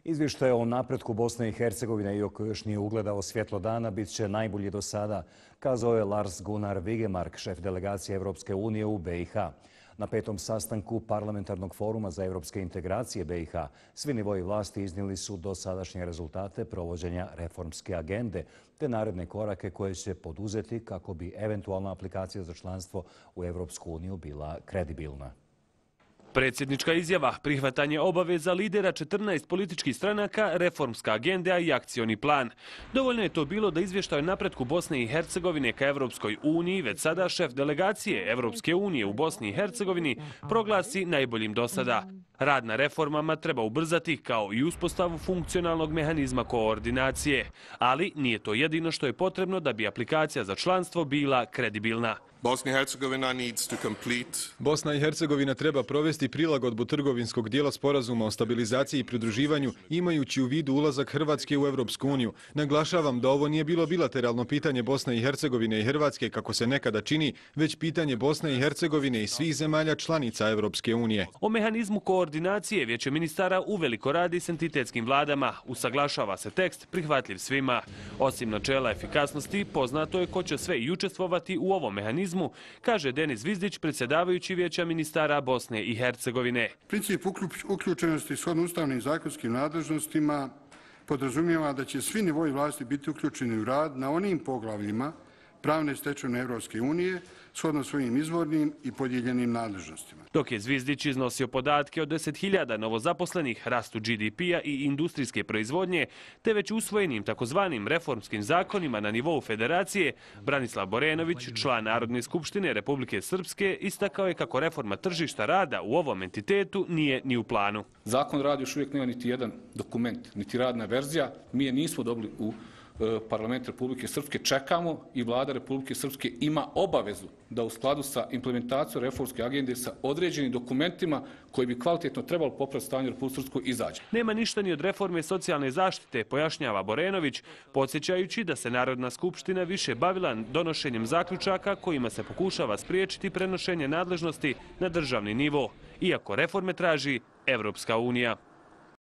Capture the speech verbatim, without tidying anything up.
Izvještaj o napretku Bosne i Hercegovine, iako još nije ugledao svjetlo dana, bit će najbolji do sada, kazao je Lars Gunnar Vigemark, šef delegacije Evropske unije u B i H. Na petom sastanku Parlamentarnog foruma za evropske integracije B i H svi nivoji vlasti iznijeli su dosadašnje rezultate provođenja reformske agende te naredne korake koje će poduzeti kako bi eventualna aplikacija za članstvo u Evropsku uniju bila kredibilna. Predsjednička izjava, prihvatanje obaveza lidera četrnaest političkih stranaka, reformska agenda i akcioni plan. Dovoljno je to bilo da izvještaj o napretku Bosne i Hercegovine ka Evropskoj uniji, već sada šef delegacije Evropske unije u Bosni i Hercegovini proglasi najboljim do sada. Rad na reformama treba ubrzati kao i uspostavu funkcionalnog mehanizma koordinacije, ali nije to jedino što je potrebno da bi aplikacija za članstvo bila kredibilna. Bosna i Hercegovina treba provesti prilagodbu trgovinskog dijela sporazuma o stabilizaciji i pridruživanju imajući u vidu ulazak Hrvatske u Evropsku uniju. Naglašavam da ovo nije bilo bilateralno pitanje Bosne i Hercegovine i Hrvatske kako se nekada čini, već pitanje Bosne i Hercegovine i svih zemalja članica Evropske unije. O mehanizmu koordinacije Vijeće ministara uveliko radi s entitetskim vladama. Usaglašava se tekst prihvatljiv svima. Osim načela efikasnosti, poznato je ko će sve i učestvovati u ovom mehanizmu, kaže Denis Vizdić, predsjedavajući Vijeća ministara Bosne i Hercegovine. Princip uključenosti shodno ustavnim zakonskim nadležnostima podrazumijeva da će svi nivoji vlasti biti uključeni u rad na onim poglavljima pravne stečevine Evropske unije shodno svojim izvornim i podijeljenim nadležnostima. Dok je Zvizdić iznosio podatke o deset hiljada novozaposlenih, rastu G D P-a i industrijske proizvodnje, te već usvojenim takozvanim reformskim zakonima na nivou federacije, Branislav Borenović, član Narodne skupštine Republike Srpske, istakao je kako reforma tržišta rada u ovom entitetu nije ni u planu. Zakon o radu još uvijek nema niti jedan dokument, niti radna verzija. Mi je nismo dobili u Parlament Republike Srpske, čekamo i vlada Republike Srpske ima obavezu da u skladu sa implementacijom reformske agende sa određenim dokumentima koji bi kvalitetno trebalo popraviti stanje u Republike Srpskoj izađe. Nema ništa ni od reforme socijalne zaštite, pojašnjava Borenović, podsjećajući da se Narodna skupština više bavila donošenjem zaključaka kojima se pokušava spriječiti prenošenje nadležnosti na državni nivo, iako reforme traži Evropska unija.